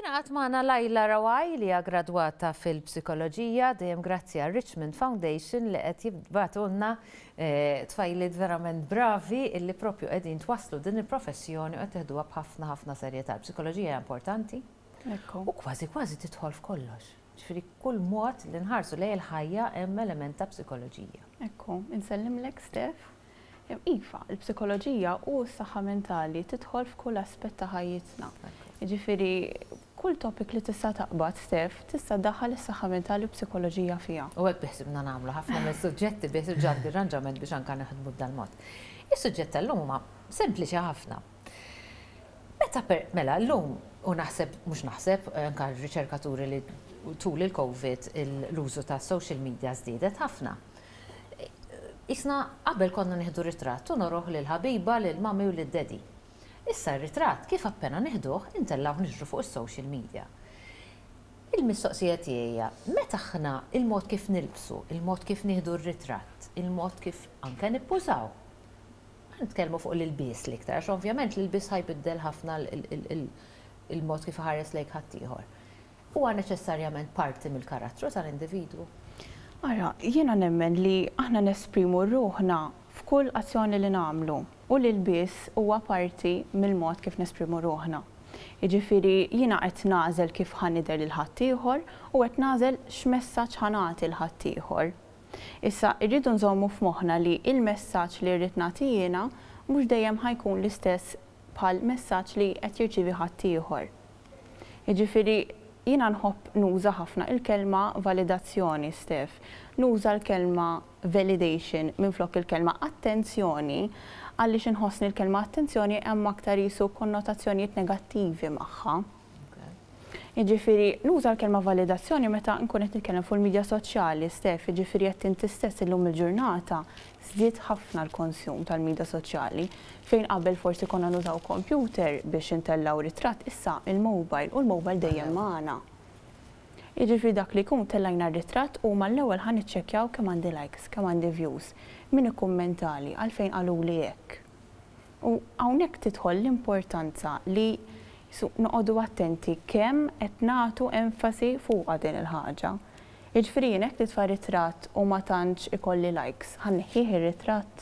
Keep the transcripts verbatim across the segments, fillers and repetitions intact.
Ingħaqad magħna Lajla Rawaj, li hija gradwata fil-psikoloġija, dejjem grazzi għal Richmond Foundation li qed jibagħtulna eh, tfajliet verament bravi illi propju qegħdin twaslu din il-professjoni u qed teħduha b'ħafna ħafna serjetà. Il-psikoloġija hija importanti u kważi kważi tidħol f'kollox. Ġifieri kull mod li nħarsu lejn il-ħajja hemm element ta' psikoloġija. Ekku, insellimlek, Steph. Iva, il-psikoloġija u s-saħħa mentali tidħol f'kull aspett ta' ħajjitna. Jiġifieri kull topic li tista' taqbad, Steph, tista' daħħal is-saħħa mentali u psikoloġija fiha. U hekk biħsibna nagħmlu ħafna mill-suġġetti, biħsib ġandi arranġament biex anka naħdmu b'dal-mod. Is-suġġett tal-lum huma sempliċi ħafna. Meta per, mela llum, u naħseb, mhux naħseb, anka r-riċerkaturi li tul il-Covid l-użu ta' social media żdiedet ħafna. Isna qabel konna nieħdu ritratt u nuruh lil ħabiba, lil mami u lil daddy. Issa r-ritratt kif appena nieħduh intellgħu niġru fuq is-social media. Il-mistoqsija tiegħi: meta aħna il-mod kif nilbsu, il-mod kif nieħdu r-ritratt, il-mod kif anke nippużaw. Nitkellmu fuq l-ilbies l-iktar, għax ovvjament l-ilbies ħa jbiddel ħafna il-mod kif ħares lejk ħaddieħor. Huwa neċessarjament parti mill-karattru tal-individwu? Ara, jiena nemmen li aħna nesprimu ruħna f'kull azzjoni li nagħmlu u l-ilbies huwa parti mill-mod kif nesprimu ruħna. Jiġifieri jiena qed nagħżel kif ħa nidher lil ħaddieħor u qed nagħżel x'messaġġ ħa nagħti lil ħaddieħor. Issa rridu nżommu f'moħħna li il-messaġġ li rrid nagħti jiena mhux dejjem ħa jkun l-istess bħal messaġġ li qed jirċievi ħaddieħor. Jiġifieri jiena nħobb nuża ħafna il-kelma validazzjoni, Steph. Nuża l-kelma validation minflok il-kelma attenzjoni, għaliex inħossni l-kelma attenzjoni hemm aktar jisu konnotazzjonijiet negattivi magħha. Jiġifieri nuża l-kelma validazzjoni meta nkun qed nitkellem fuq il-medja soċjali, Steph, jiġifieri qed inti stess, illum il-ġurnata żdied ħafna l-konsum tal-medja soċjali. Fejn qabel forsi konna nużaw computer biex intellgħu ritratt, issa il-mobile, u l-mobile dejjem magħna. Jiġifieri dak li jkun tellajna r-ritratt u mal-ewwel ħa niċċekkjaw kemm għandi likes, kemm għandi views, min ikkummentali, għalfejn qaluli hekk. U hawnhekk tidħol l-importanza li noqogħdu attenti kemm qed nagħtu enfasi fuq din il-ħaġa. Jiġifieri jien hekk nitfa' ritratt u ma tantx ikolli likes, ħa nneħħih ir-ritratt?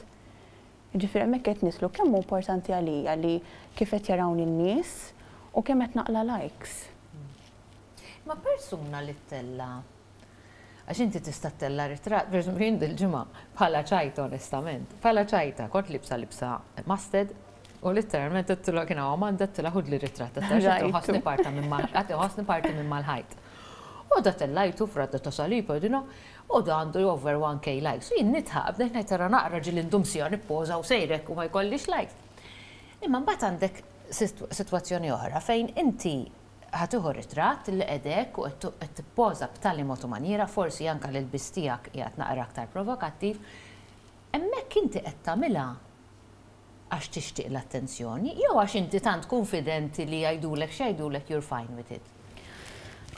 Jiġifieri hemmhekk qed nidħlu kemm hu importanti għalija li kif qed jarawni n-nies u kemm qed naqla likes. Ma persuna li ttella', għax inti tista' ttella' ritratt, per esempio jien dil-ġimgħa bħala ċajta onestament, bħala ċajta, kont libsa libsa mustard u literalment għedtlu, kien hawn Amanda, għedtilha, "Ħudli ritratt, ħossni parta minn mal, ħossni parti minn mal-ħajt." U da tellajtu fradda ta' saliba, dino, u da għandu over one K likes. U jien nidħaq, bdejt ngħid, "Tara naqra ġieli ndum siegħa nippoża u sejrek u ma jkollix likes." Imma mbagħad għandek sitwazzjoni oħra fejn inti ħa tieħu ritratt li qegħdek u qed tippoża b'tali mod u maniera, forsi anke l-ilbies tiegħek qiegħed naqra aktar provokattiv, hemmhekk inti qed tagħmilha għax tixtieq l-attenzjoni, jew għax inti tant konfidenti li jgħidulek x'jgħidulek, you're fine with it?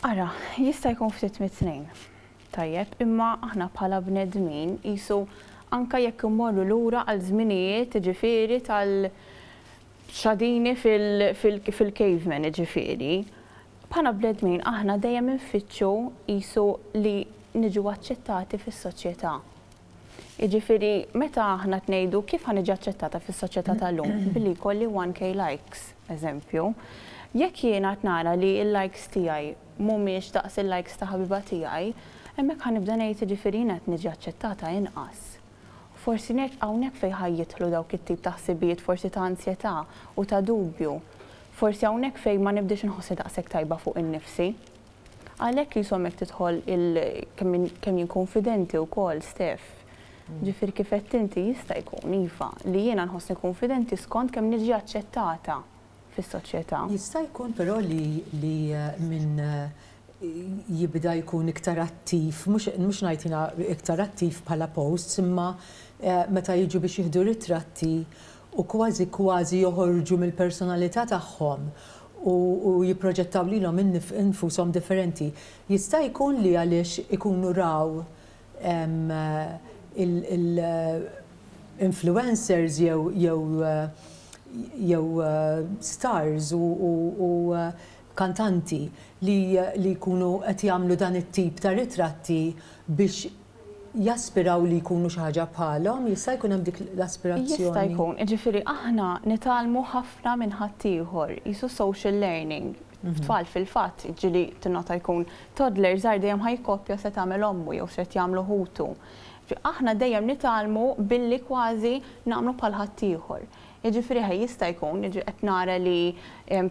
Ara, jista' jkun ftit mit-tnejn. Tajjeb, imma aħna bħala bnedmin jisu anka jekk immorru lura għal żminijiet, ġifieri tal xadini fil-caveman, ġifieri. Bħala bnedmin aħna dejjem infittxu jisu li niġu aċċettati fis-soċjetà. Jiġifieri meta aħna tnejdu kif ħa niġi aċċettata fis-soċjetà tal-lum billi jkolli one K likes, eżempju. Jekk jiena qed nara li l-likes tiegħi mhumiex daqs il-likes ta' ħabiba tiegħi, hemmhekk ħa nibda ngħid, jiġifieri qed niġi aċċettata inqas. Forsi nek hawnhekk fejn ħa jidħlu dawk it-tip ta' ħsibijiet, forsi ta' ansjetà u ta' dubju. Forsi hawnhekk fejn ma nibdiex inħossi daqshekk tajba fuq innifsi. Għalhekk jisom hekk tidħol kemm jien konfidenti wkoll, Steph. Ġifieri kif qed inti, jista' jkun iva li jiena nħossni konfidenti skont kemm niġi aċċettata fis-soċjetà. Jista' jkun però li, li eh, minn eh, jibda jkun iktar attiv, mhux ngħid jiena iktar attiv bħala posts, imma eh, meta jiġu biex jieħdu ritratti u kważi kważi joħorġu mill-personalità tagħhom u, u jipproġettaw lilhom infushom differenti. Jista' jkun li għaliex ikunu raw il-influencers jew jew jew stars u, u, u kantanti li li jkunu qed jagħmlu dan it-tip ta' ritratti biex jaspiraw li jkunu xi ħaġa bħalhom, jista' jkun hemm dik l-aspirazzjoni. Jista' jkun, ġifieri aħna nitgħallmu ħafna minn ħaddieħor, qisu social learning. Tfal fil-fatt, ġieli tinnota jkun toddler żgħar, dejjem ħa jikkopja se tagħmel ommu jew se jagħmlu ħutu. Aħna dejjem nitgħallmu billi kważi nagħmlu bħal ħaddieħor. Jiġifieri ħaj jista' jkun, qed nara li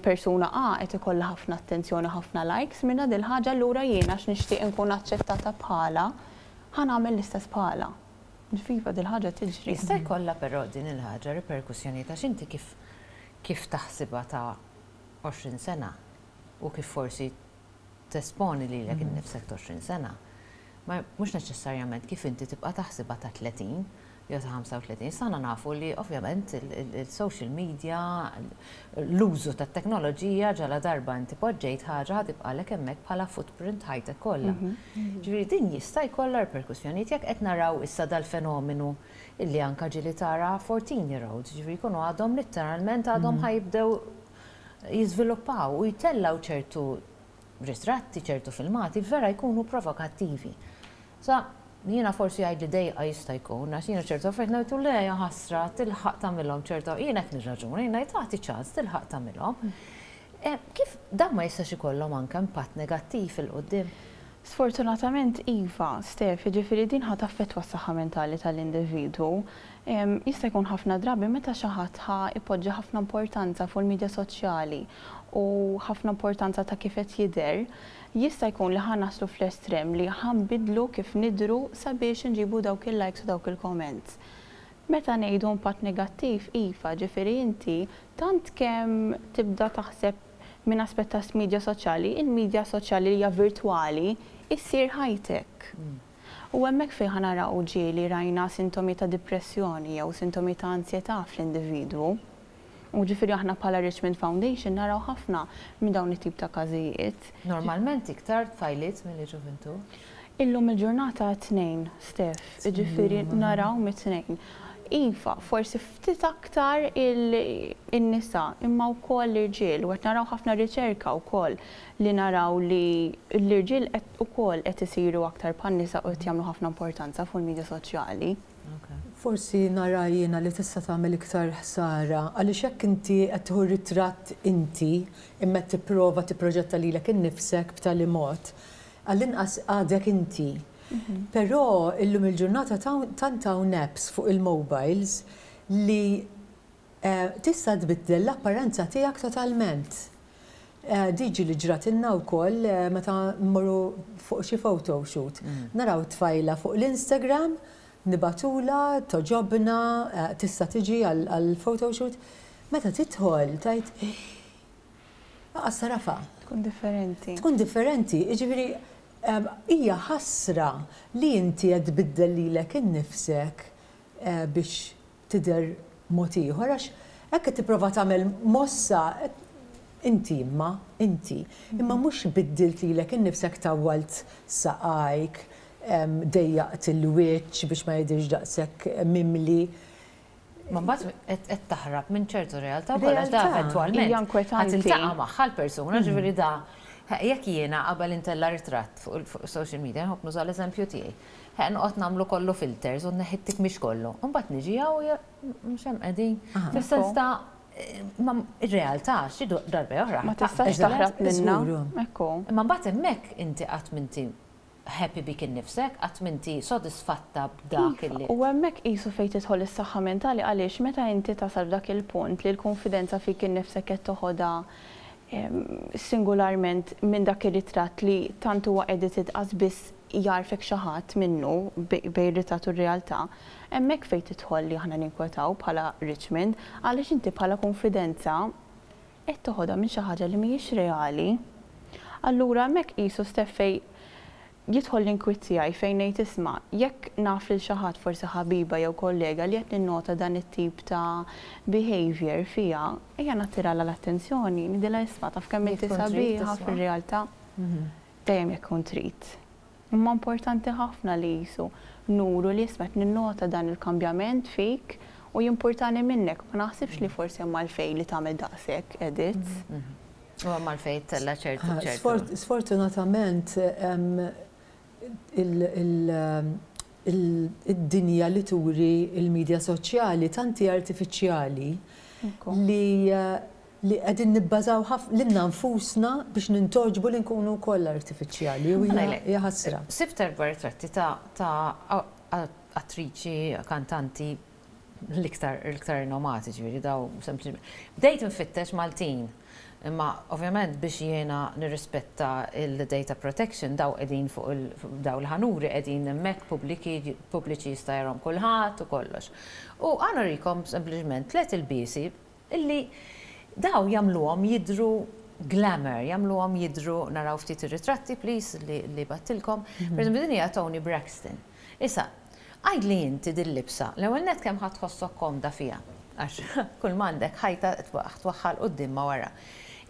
persuna A qed ikollha ħafna attenzjoni, ħafna likes minna dil ħaġa, allura jiena għax nixtieq inkun aċċettata bħala, ħa nagħmel l-istess bħala. Ġifieri dil ħaġa tiġri. Jista' jkollha però din il-ħaġa riperkussjoni ta' x'inti kif kif taħsibha ta' għoxrin sena u kif forsi tesponi lilek innifsek ta' għoxrin sena. Ma mhux neċessarjament kif inti tibqa' taħsibha ta' tletin jew ta' ħamsa u tletin sana. Nafu li ovvjament il-social media, l-użu tat teknoloġija, ġala darba inti poġġejt ħaġa, tibqalek hemmhekk bħala footprint ħajtek kollha. Ġifieri din jista' jkollha reperkussjonijiet jekk qed naraw issa dal-fenomenu illi anka ġieli tara fourteen year olds, ġifieri jkunu għadhom literalment għadhom ħa jibdew jiżviluppaw u jtellaw ċertu ritratti, ċertu filmati, vera jkunu provokattivi. Sa, jiena forsi għajd li dejqa jista' jkun, għax jiena ċertu affarijiet ngħidu le, ħasra, tilħaq tagħmilhom ċertu, jiena qed nirraġuna, jiena tagħti ċans tilħaq tagħmilhom. Eh, kif dan ma jistax ikollhom anke impatt negattiv 'il quddiem? Sfortunatament iva, Stef, ġifieri din ħa taffettwa s-saħħa mentali tal-individwu. Jista' jkun ħafna drabi meta xi ħadd ħa ipoġġi ħafna importanza fuq il-medja soċjali u ħafna importanza ta' kif qed jidher, jista' jkun li ħa naslu fl-estrem li ħa nbidlu kif nidru sabiex nġibu dawk il-likes u dawk il-comments. Meta ngħidu impatt negattiv, iva, ġifieri inti tant kemm tibda taħseb minn aspett ta' media soċjali, il-media soċjali li hija virtwali issir ħajtek. U hemmhekk fejn ħa naraw ġieli rajna sintomi ta' depressjoni jew sintomi ta' ansjetà fl-individwu. U ġifieri aħna bħala Richmond Foundation naraw ħafna minn dawn it-tip ta' każijiet. Normalment iktar tfajliet milli ġuvintur? Illum il-ġurnata tnejn, Stef, ġifieri naraw mit-tnejn. Iva, forsi ftit aktar il-nisa, imma wkoll l-irġiel, u qed naraw ħafna riċerka wkoll li naraw li l-irġiel ukoll qed isiru aktar bħan-nisa u qed jagħmlu ħafna importanza fuq il-medja soċjali. Forsi nara jiena li tista' tagħmel iktar ħsara għaliex hekk inti qed tieħu ritratt inti imma qed tipprova tipproġetta lilek innifsek b'tali mod, għall-inqas għadek inti. Però illum il-ġurnata tant hawn apps fuq il-mobiles li eh, tista' tbiddel l-apparenza tiegħek totalment. Eh, Diġi li ġratilna wkoll eh, meta mmorru fuq xi photoshoot. Naraw tfajla fuq l-Instagram, nibagħtulha, togħġobna, tista' tiġi għal photoshoot. Meta tidħol tgħid, "Aqas tagħrafha." Tkun differenti. Tkun differenti, jiġifieri hija ħasra li inti qed tbiddel lilek innifsek eh, biex tidher mod ieħor, għax hekk qed tipprova tagħmel mossa inti, imma inti imma mhux biddilt lilek innifsek, tawwalt saqajk, dejjaqt il-wiċċ biex ma jidhirx daqshekk mimli. Ma mbagħad qed taħrab minn ċertu realtà wkoll, għax da eventwalment Hija inkwetanti. ħa tiltaqa' magħha l-persuna, ġifieri da jekk jiena qabel intella ritratt fuq social media, nħobb nuża l-eżempju tiegħi. Noqgħod nagħmlu kollu filters u neħittik mhix kollu. Mbagħad niġi hawn mhux hemm qegħdin. Fis-sens ta' ma ir-realtà xi darba oħra. Ma tistax taħrab minna. Ekku. Imma mbagħad hemmhekk inti qatt m'inti happy bik innifsek, qatt m'inti sodisfatta b'dak Iva, illi. U hemmhekk qisu fejn tidħol is-saħħa mentali, għaliex meta inti tasal f'dak il-punt li l-konfidenza fik innifsek qed toħodha singularment minn dak ir-ritratt li tant huwa edited qas biss jagħrfek xi ħadd minnu bejn ritratt u r-realtà, hemmhekk fejn tidħol li aħna ninkwetaw bħala Richmond, għaliex inti bħala konfidenza qed toħodha minn xi ħaġa li mhijiex reali. Allura hemmhekk qisu, Stef, fejn jidħol l-inkwiet tiegħi, fejn ngħid, isma', jekk naf lil xi ħadd, forsi ħabiba jew kollega, li qed ninnota dan it-tip ta' behavior fiha, ejja nattiralha l-attenzjoni, ngħidilha, "Isma', taf kemm inti Jekk tkun trid sabiħa tisma'. fir-realtà." Dejjem jekk kun trid. Imma importanti ħafna li qisu nuru li, isma', qed ninnota dan il-kambjament fik u jimpurtani minnek. Ma naħsibx li forsi hemm għalfejn li tagħmel daqshekk edits. U mal-fejt tella ċertu ċertu. Sfortunatament, id-dinja li turi il-medja soċjali tanti artifiċjali li li qegħdin nibbażaw lilna nfusna biex nintogħġbu li nkunu wkoll artifiċjali u hija ħasra. Sibt erba' ritratti ta' attriċi, kantanti l-iktar l-iktar rinomati, ġifieri daw sempliċement. Bdejt nfittex Maltin. Imma ovvjament biex jiena nirrispetta il-data protection, daw qegħdin fuq daw l-ħanuri qegħdin hemmhekk pubbliċi, jista' jarahom kulħadd u kollox. U ħa nurikom sempliċement tliet ilbiesi illi daw jagħmluhom jidru glamour, jagħmluhom jidru. Naraw ftit ir-ritratti, please, li, li bgħattilkom. Mhm. Per eżempju, din hija Toni Braxton. Issa, għidli inti dil-libsa, l-ewwel net kemm ħa tħossok komda fiha? Għax kull m'għandek ħajta twaħħal quddiem ma wara.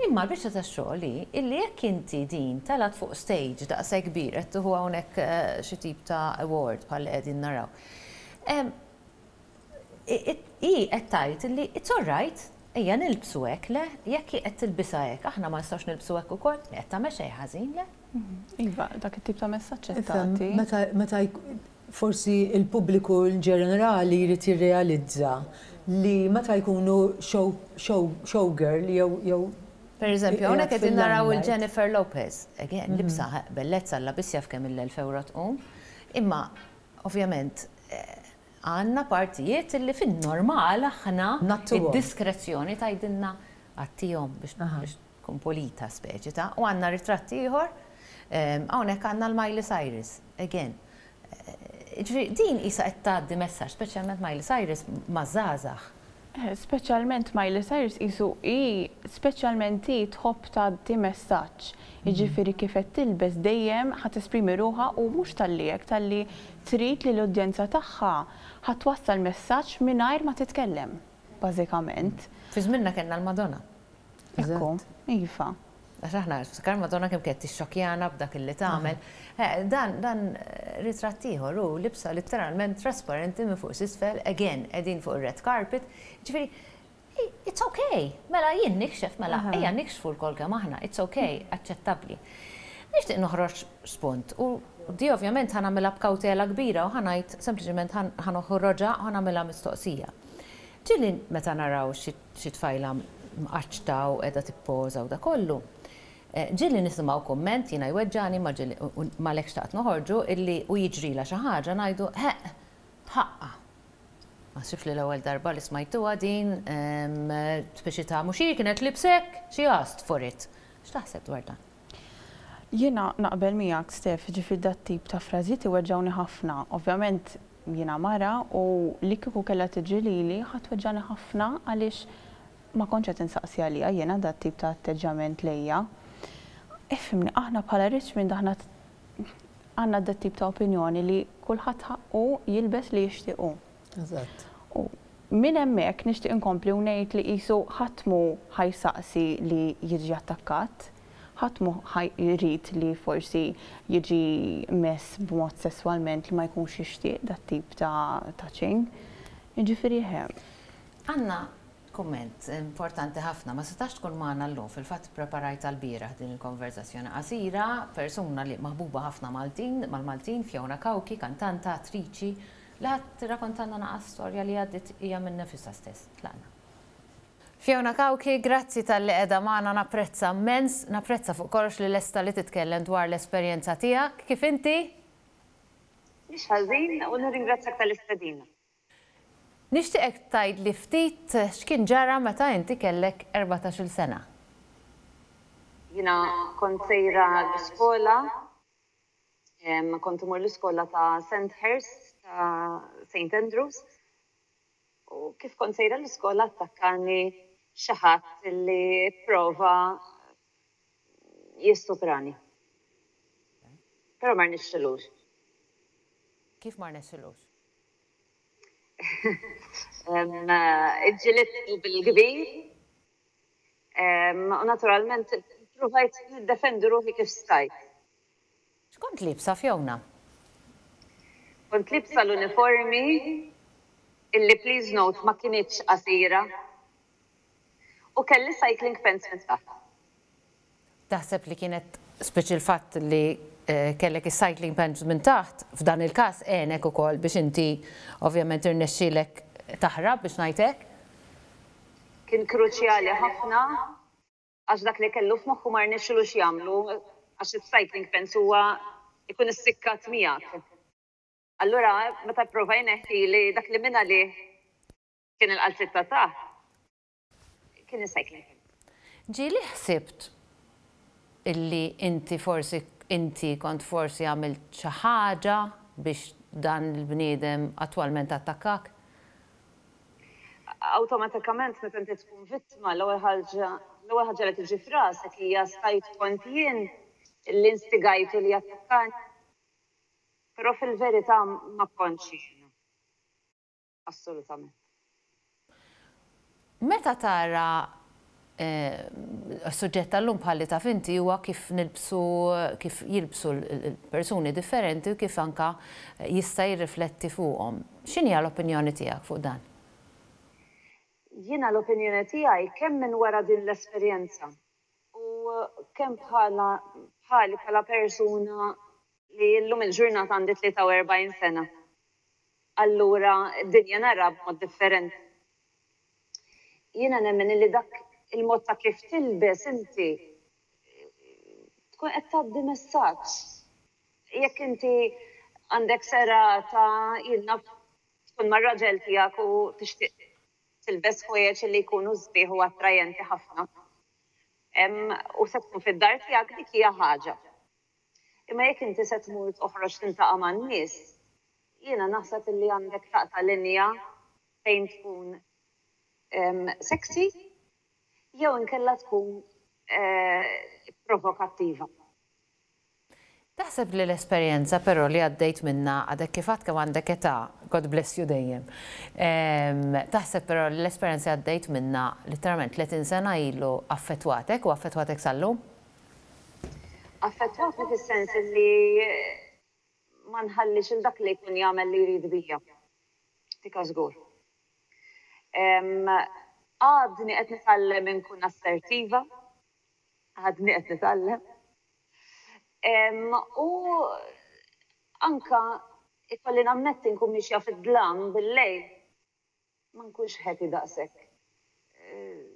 Imma l-biċċa ta' xogħol illi jekk inti din telgħet fuq stage daqshekk kbir, qed tieħu hawnhekk eh, xi tip ta' award bħal qegħdin naraw. I qed tgħid li it's all right, ejja nilbsu hekk, le, jekk qed tilbisha hekk, aħna ma nistgħux nilbsu hekk ukoll, qed tagħmel xejn ħażin, le? Mhm. Iva, dak it-tip ta' messaġġ tagħti. Meta forsi il-pubbliku in ġenerali jrid jirrealizza li meta jkunu show, show, showgirl jew jew Per eżempju, hawnhekk qegħdin naraw il-Jennifer Lopez. Again, mhm. libsa bellezza la biss jaf kemm il-elf euro tqum. Imma, ovvjament, eh, għandna partijiet li fin-normal aħna id-diskrezzjoni tgħidilna għattihom biex tkun pulita speċi ta' u għandna ritratti ieħor, hawnhekk għandna l-Miley Cyrus, again. Eh, din isa qed tgħaddi messaġġ, speċjalment Miley Cyrus, maż-żgħażagħ. Eh, speċjalment Miley Cyrus isu i speċjalment i tħobb tgħaddi messaġġ. Jiġifieri kif qed tilbes dejjem ħa tesprimi ruħha u mhux talli hekk, talli trid li l-udjenza tagħha ħa twassal messaġġ mingħajr ma titkellem, bażikament. Fi żminna kellna l-Madonna. Ekku, iva. Għax aħna, ftakar Madonna kemm kienet tixxokjana b'dak illi tagħmel. Eh, Dan dan ritratt ieħor u libsa letteralment trasparenti minn fuq s'isfel, again, qegħdin fuq ir-red carpet. Ġifieri, it's okay. Mela jien nikxef, mela ejja nikxfu lkoll kemm aħna, it's okay, aċċettabbli. Nixtieq noħroġ spunt u di ovvjament ħa nagħmilha b'kawtela kbira u ħa ngħid sempliċement ħa noħroġha, ħa nagħmilha mistoqsija. Ġieli meta naraw xi tfajla mqaċċta u qiegħda tippoża u da kollu, eh, ġieli nisimgħu komment, jiena jweġġani, ma ġieli malek xtaqt noħorġu, illi u jiġrila xi ħaġa ngħidu, "Heq, ħaqqa." Ma sifx li l-ewwel darba li smajtuha din, speċi ta' mhux hi kienet libsek, she asked for it. X'taħseb dwar dan? Jiena naqbel miegħek, Stef, ġifieri dat tip ta' frażijiet iweġġawni ħafna. Ovvjament jiena mara u li kieku kellha tiġi lili ħa tweġġani ħafna għaliex ma kontx qed insaqsi għalija jiena dat tip ta' atteġġament lejja. Ifhimni, aħna bħala Richmond aħna għandna dat tip ta' opinjoni li kulħadd ħaqqu jilbes li jixtiequ. Eżatt. U minn hemmhekk nixtieq inkompli u ngħid li qisu ħadd mhu ħa jsaqsi li jiġi attakkat, ħadd mhu jrid li forsi jiġi mess b'mod sesswalment li ma jkunx jixtieq dat tip ta' touching. Jiġifieri hemm. Għandna kumment importanti ħafna, ma setax tkun magħna llum, fil-fatt preparajt għal-bieraħ din il-konverzazzjoni qasira, persuna li maħbuba ħafna Maltin, mal-Maltin, Fiona Cauchi, kantanta, attriċi, li ħa tirrakkontalna naqa storja li għaddit hija minn nifisha stess. Tlaqna. Fiona Cauchi, grazzi talli qiegħda magħna, napprezza immens, napprezza fuq kollox li lesta li titkellem dwar l-esperjenza tiegħek. Kif inti? Mhix ħażin u nirringrazzjak tal-istedina. Nixtieqek tgħid li ftit x'kien ġara meta inti kellek erbatax-il sena. Jiena kont sejra l-iskola, kont imur l-iskola ta' Sandhurst, ta' Saint Andrews, u kif kont sejra l-iskola attakkani xi ħadd li prova jistuprani. Però ma rnexxilux. Kif ma rnexxilux? Iġġilidtu bil-kbir. U naturalment provajt niddefendi ruħi kif stajt. X'kont libsa, Fiona? Kont libsa l-uniformi illi, please note, ma kinitx qasira. U kelli cycling pants minn taħt. Taħseb li kienet speċi l-fatt li eh, kellek is-cycling pants minn taħt, f'dan il-każ għenek ukoll biex inti ovvjament irnexxielek taħrab, biex ngħidlek? Kien kruċjali ħafna, għax dak li kellu f'moħħu ma rnexxilux jagħmlu, għax is-cycling pants huwa ikun issikkat miegħek. Allura meta prova jneħħi li dak li minna li kien il-qalziet ta' taħt, kien is-cycling pants. Ġieli ħsibt illi inti forsi inti kont forsi għamilt xi ħaġa biex dan il-bniedem attwalment attakkak? Awtomatikament, meta inti tkun vittma, l-ewwel ħaġa l-ewwel ħaġa li tiġi f'rasek hija stajt kont jien li instigajtu li attakkani. Però fil-verità ma kontx jien. Assolutament. Meta tara eh, suġġett tal-lum, bħalli taf inti, huwa kif nilbsu, kif jilbsu l-persuni differenti u kif anka jista' jirrifletti fuqhom. X'inhi l-opinjoni tiegħek fuq dan? Jiena l-opinjoni tiegħi, kemm minn wara din l-esperjenza u kemm bħala bħali bħala persuna li llum il-ġurnata għandi tlieta u erbgħin sena. Allura d-dinja nara b'mod differenti. Jiena nemmen li dak il-mod ta' kif tilbes inti tkun qed tgħaddi messaġġ. Jekk inti għandek serata, jiena, tkun mar-raġel tiegħek u tixtieq tilbes ħwejjeġ li jkunu sbieħ u attrajenti ħafna. U se tkun fid-dar tiegħek, dik hija ħaġa. Imma jekk inti se tmur toħroġ tintaqa' man-nies, jiena naħseb illi għandek taqta' linja fejn tkun sexy jew inkella tkun eh, provokattiva. Taħseb li l-esperjenza però li għaddejt minna, għadek kif għad kemm għandek età, God bless you dejjem. Taħseb però li l-esperjenza għaddejt minna literalment tletin sena ilu affettwatek u affettwatek sal-lum? Affettwatni fis-sens li ma nħallix il dak li jkun jagħmel li jrid bija. Tika żgur. Għadni qed nitgħallem inkun assertiva, għadni qed nitgħallem. U anka ikolli nammetti, nkun mixja fid-dlam bil-lejl, ma nkunx happy daqshekk. Eh,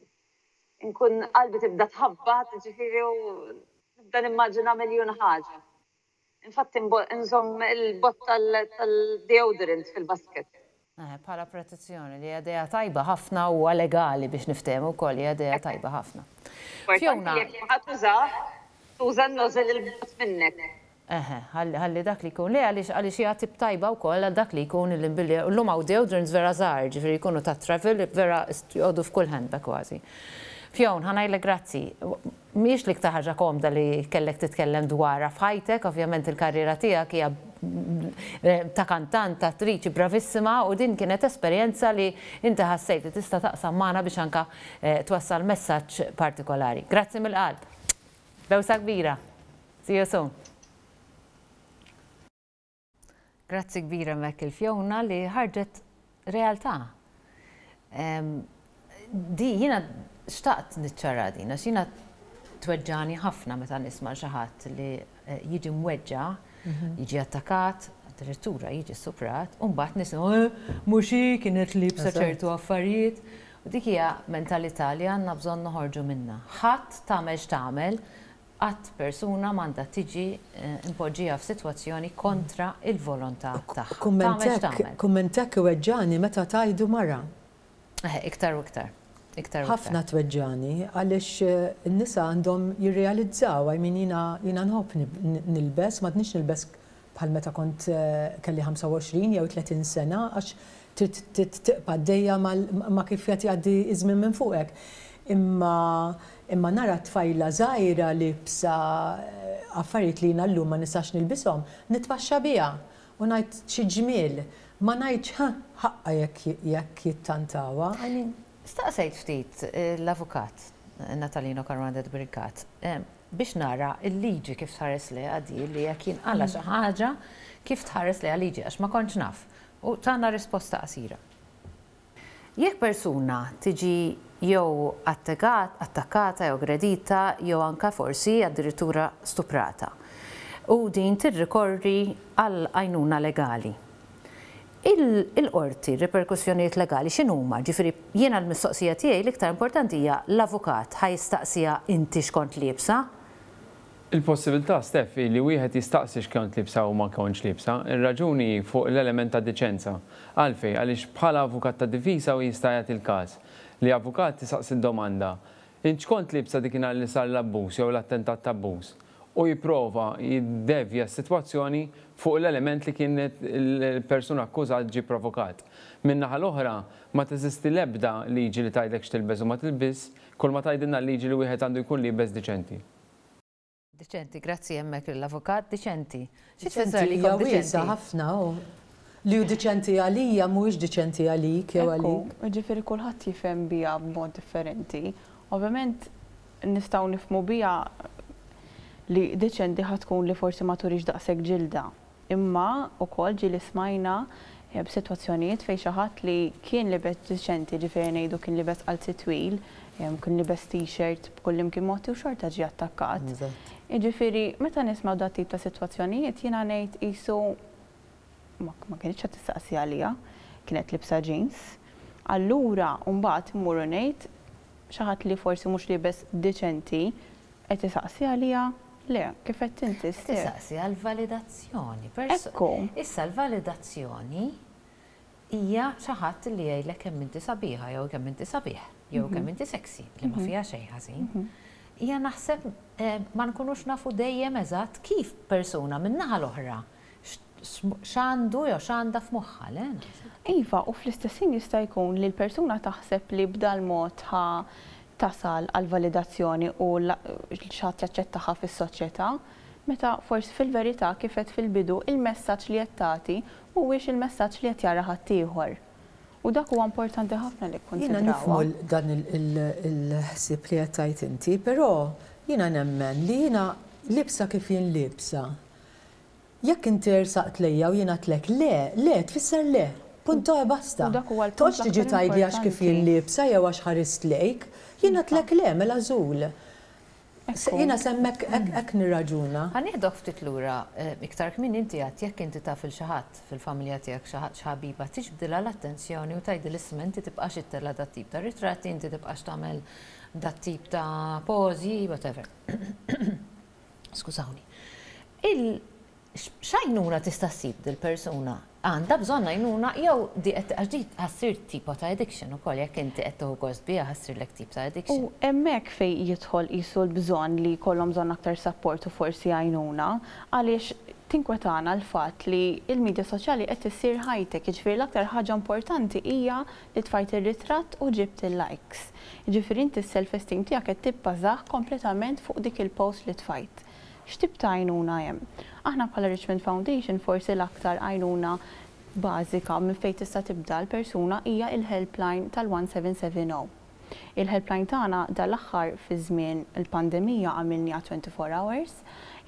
nkun qalbi tibda tħabbat, ġifieri, u nibda nimmaġina miljun ħaġa. Infatti nżomm il-bott tal-deodorant fil-basket. Eh, bħala protezzjoni, li idea tajba ħafna u legali, biex niftehmu wkoll, hija idea tajba ħafna. Fiona, jekk tuża, tuża n-nozzle il-bot minnek. Eħe, ħalli dak li jkun. Le, għaliex għaliex hija tip tajba wkoll għal dak li jkun il-imbilli. Llum hawn deodorants vera żgħar, ġifieri jkunu ta' travel, vera jgħodu f'kull handbag kważi. Fiona, ħa ngħidlek grazzi. Mhix l-iktar ħaġa komda li kellek titkellem dwarha f'ħajtek, ovvjament il-karriera tiegħek hija ta' kantant, ta' attriċi bravissima, u din kienet esperjenza li inti ħassejt li tista' taqsam magħna biex anka eh, twassal messaġġ partikolari. Grazzi mill-qalb. Bewsa kbira. See you soon. Grazzi kbira mek il-Fiona li ħarġet realtà. Di jiena xtaqt niċċara din, għax jiena tweġġani ħafna meta nisma' xi ħadd li eh, jiġi mweġġa, mhm. jiġi attakat, addirittura jiġi stuprat, u mbagħad nisimgħu eh, mhux hi kienet liebsa ċertu affarijiet. U dik hija mentalità li għandna bżonn noħorġu minna. Ħadd, tagħmel x'tagħmel, qatt persuna m'għandha tiġi eh, impoġġija f'sitwazzjoni kontra il-volontà tagħha. Kumment hekk iweġġani meta tgħidu mara. Iktar u iktar. Iktar. Ħafna tweġġani, għaliex eh, n-nisa għandhom jirrealizzaw, I mean, jiena jiena nħobb nilbes, ma nilbes bħal meta kont eh, kelli ħamsa u għoxrin jew tletin sena, għax trid tibqa' dejja ma' kif jagħti għaddi iż-żmien minn fuqek. Imma imma nara tfajla żgħira libsa eh, affarijiet li jiena llum ma nistax nilbishom, nitpaxxa biha u ngħid xi ġmiel. Ma ngħidx ħaqqa jekk jekk jittantawha. I mean, Staqsejt ftit eh, l-avukat eh, Natalino Caruana Brincat biex nara il-liġi kif tħares li għadi li jekk jinqala xi ħaġa, kif tħares li liġi, għax ma kontx naf. U tana risposta qasira. Jekk persuna tiġi Jew attakkata, jew aggredita, jew anka forsi addirittura stuprata. U din tirrikorri għal għajnuna legali. Il-qorti, riperkussjonijiet legali x'inhuma? Ġifieri jiena l-mistoqsija tiegħi l-iktar importanti hija, l-avukat ħa jistaqsiha inti x'kont liebsa? Il-possibilità, Stef, li wieħed jistaqsi x'kont liebsa u ma kontx liebsa, ir-raġuni fuq l-element ta' diċenza. Għalfej, għaliex bħala avukat ta' difiża u jista' jagħti il-każ li avukat jistaqsi domanda: "Int x'kont liebsa dikinhar li sar l-abbuż jew l-attentat ta' abbuż?" U jipprova jiddevja s-sitwazzjoni fuq l-element li kienet il-persuna akkużat ġi provokat. Min-naħa l-oħra, ma teżisti l-ebda liġi li tgħidlek x'tilbes u ma tilbis, kull ma tgħidilna l-liġi li wieħed għandu jkun liebes diċenti. Diċenti, grazzi hemmhekk l-avukat, diċenti. Xi tfisser li diċenti? Ħafna, li hu diċenti għalija mhuwiex diċenti għalik jew għalik. Ġifieri kulħadd jifhem biha b'mod differenti. Ovvjament nistgħu nifhmu biha li diċenti ħa tkun li forsi ma turix daqshekk ġilda. Imma ukoll ġieli smajna eh, b'sitwazzjonijiet fejn xi ħadd li kien libes diċenti, ġifieri ngħidu kien libes qalziet twil, kien libes t-shirt b'kull imkien motti u xorta ġie attakkat. Ġifieri meta nismgħu dat tip ta' sitwazzjonijiet, jiena ngħid qisu ma kienx qed tistaqsi għalija, kienet libsa jeans. Allura mbagħad immur ngħid xi ħadd li forsi mhux libes diċenti qed isaqsi għalija? Le, kif qed inti. Tistaqsi għal validazzjoni. Ekku. Issa l-validazzjoni hija xi ħadd li jgħidlek kemm inti sabiħa jew kemm inti sabiħ jew kemm inti sexy, li ma fiha xejn ħażin. Hija naħseb eh, ma nkunux nafu dejjem eżatt kif persuna min-naħa l-oħra x'għandu jew x'għandha f'moħħha, le? Iva, u fl-istess ħin jista' jkun li l-persuna taħseb li b'dal mod ħa tasal għal validazzjoni u xi ħadd jaċċettaha fis-soċjetà, meta forsi fil-verità, kif għedt fil-bidu, il-messaġġ li qed tagħti mhuwiex il-messaġġ li qed jara ħaddieħor. U dak huwa importanti ħafna li Jiena nifhmu dan il-ħsieb li qed tgħid inti, però jiena nemmen li jiena libsa kif jien libsa. Jekk inti rsaqt lejja u jiena għedtlek le, le, tfisser le. Punto e basta. Toqgħodx tiġi tgħidli għax kif jien libsa jew għax ħarist lejk, jiena għedtlek le, mela żul. Jiena s'hemmhekk hekk nirraġuna. Ħa nieħdok ftit lura, eh, iktar kmieni inti għedt jekk inti taf lil xi ħadd fil-familja tiegħek, xi ħadd, ħabiba, tiġbdilha l-attenzjoni u tgħidilha, "Isma', inti tibqax ittella' dat tip ta' ritratti, inti tibqax tagħmel dat tip ta' pozi, whatever." Skużawni. Il x'għajnuna tista' ssib dil-persuna? Għandha bżonn għajnuna jew di qed, għax di ħa ssir tipo ta' addiction ukoll, jekk inti qed tieħu gost biha, ħa ssirlek tip ta' addiction. U hemmhekk fej jidħol qisu l-bżonn li jkollhom bżonn aktar support u forsi għajnuna, għaliex tinkwetana l-fatt li il-medja soċjali qed issir ħajtek, jiġifieri l-aktar ħaġa importanti hija li tfajt ir-ritratt u ġibt il-likes. Jiġifieri inti s-self-esteem tiegħek qed tibbażah kompletament fuq dik il-post li tfajt. X'tip ta' għajnuna hemm? Aħna bħala Richmond Foundation, forsi l-aktar għajnuna bażika minn fejn tista' tibda l-persuna hija il-helpline tal-seventeen seventy. Il-helpline tagħna dal-aħħar fi żmien il-pandemija għamilniha twenty-four hours,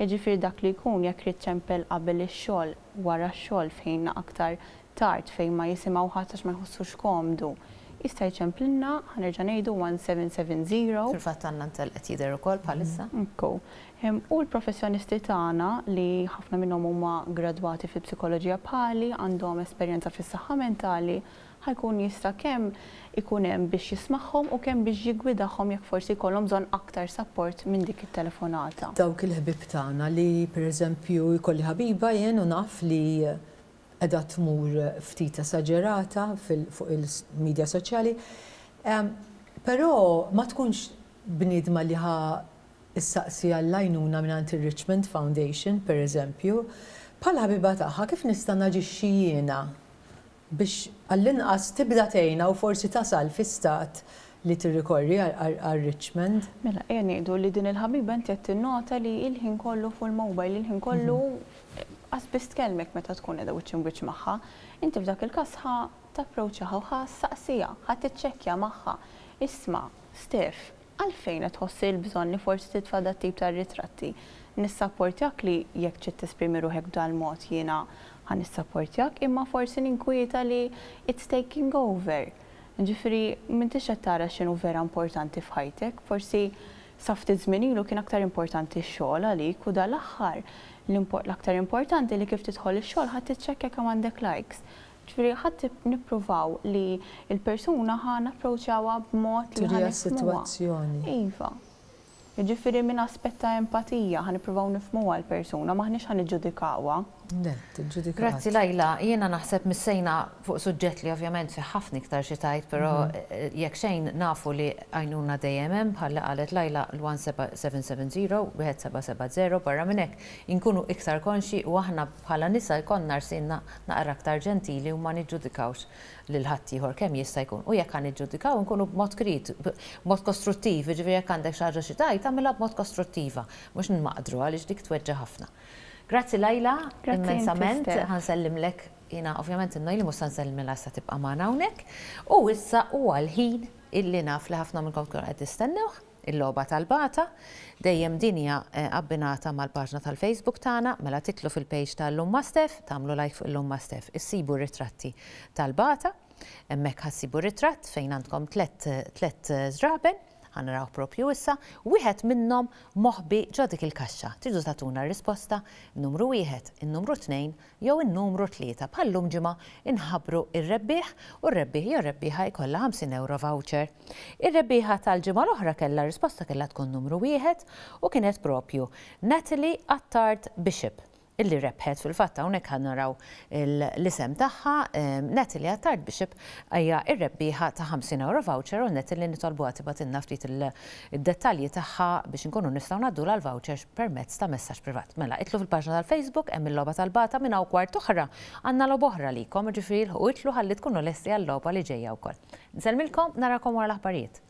jiġifieri dak li jkun jekk irid ċempel qabel ix-xogħol, wara x-xogħol, fejn aktar tard fejn ma jisimgħu ħadd għax ma jħossux komdu, jista' jċemplilna, ħa nerġa' ngħidu seventeen seventy. Fil-fatt għandna ntel qed jidher ukoll bħalissa. Ekku. U l-professjonisti tagħna, li ħafna minnhom huma gradwati fil-psikoloġija bħali, għandhom esperjenza fis-saħħa mentali, ħa jkun jista' kemm ikun hemm biex jismagħhom u kemm biex jiggwidahom jekk forsi jkollhom bżonn aktar support minn dik it-telefonata. Dawk il-ħbib tagħna li, pereżempju, jkolli ħabiba jien u naf li qiegħda tmur ftit esaġerata fuq il-medja soċjali, però ma tkunx bniedma li ħa issaqsi għall-għajnuna minn il-Richmond Foundation, per eżempju, bħala ħabiba tagħha kif nista' naġixxi jiena biex għall-inqas tibda tgħinha u forsi tasal fi stat li tirrikorri għal Richmond? Mela, ejja ngħidu li din il-ħabiba inti qed tinnota li il-ħin kollu fuq il-mobile, il-ħin kollu qas biss tkellmek meta tkun qiegħda wiċċ wiċċ magħha. Inti f'dak il-każ ħa tapproċċjaha u ħa ssaqsiha, ħa tiċċekkja magħha. "Isma', Steph, għalfejn qed tħossi l-bżonn li forsi titfa' dat tip ta' ritratti? Nissapportjak li jekk trid tesprimi ruħek b'dal mod, jiena ħa nissapportjak, imma forsi ninkwieta li it's taking over." Ġifieri m'intix qed tara x'inhu vera importanti f'ħajtek, forsi sa ftit żmien ilu kien aktar importanti x-xogħol għalik u dal-aħħar l-aktar importanti li kif tidħol ix-xogħol ħadd tiċċekkja kemm għandek likes. Ġifieri ħadd nippruvaw li l-persuna ħa napproċċjawha b'mod li ħa sitwazzjoni. Iva. Ġifieri minn aspett ta' empatija ħa nippruvaw nifhmuha l-persuna, m'aħniex ħa niġġudikawha. Grazzi, Lajla, jiena naħseb missejna fuq suġġett li ovvjament fi ħafna iktar xi tgħid, però mhm. eh, jekk xejn nafu li għajnuna dejjem hemm, bħalli qalet Lajla, l-one seven seven zero, one seven seven zero. Barra minn hekk inkunu iktar konxi u aħna bħala nisa jkollna rsinna naqra aktar ġentili u ma niġġudikawx lil ħaddieħor kemm jista' jkun. U jekk ħa niġġudikaw, nkunu b'mod krit, b'mod kostruttiv, jiġifieri jekk għandek xi ħaġa xi tgħid, tagħmilha b'mod kostruttiva, mhux nmaqdru, għaliex dik tweġġa' ħafna. Grazzi, Lajla, immensament, ħa nsellimlek jiena ovvjament, inna li mhux nsellmilha sa tibqa' magħna hawnhekk. U issa huwa l-ħin illi naf li ħafna minnkom tkunu qed tistennewh, il-logħba tal-bata. Dejjem din hija eh, abbinata mal-paġna tal-Facebook tagħna, mela tidħlu fil-page tal-Illum ma' Steph, tagħmlu like fuq Illum ma' Steph, issibu ritratti tal-bata, hemmhekk ħa ssibu ritratt fejn għandkom tlet tlet żraben, ħa naraw propju issa, wieħed minnhom moħbi ġo dik il-kaxxa. Tridu tagħtuna risposta, numru wieħed, in-numru tnejn jew in-numru tlieta. Bħallum ġimgħa inħabbru ir-rebbieħ u r-rebbieħ jew rebbieħa jkollha ħamsin euro voucher. Ir-rebbieħa tal-ġimgħa l-oħra kellha risposta kellha tkun numru wieħed u kienet propju Natalie Attard Bishop illi rebħet. Fil-fatt hawnhekk ħa naraw l-isem tagħha, Natalie Attard Bishop hija r-rebbieħa ta' ħamsin euro voucher u Natalie nitolbu tibgħatilna ftit id-dettalji tagħha biex inkunu nistgħu ngħaddu l-voucher permezz ta' messaġġ privat. Mela, idħlu fil-paġna tal-Facebook, hemm il-logħba tal-bata. Minn hawn kwart oħra għandna logħba oħra lilkom, ġifieri u idħlu ħalli tkunu lesti għal-logħba li ġejja wkoll. Nsellmilkom, narakom wara l-aħbarijiet.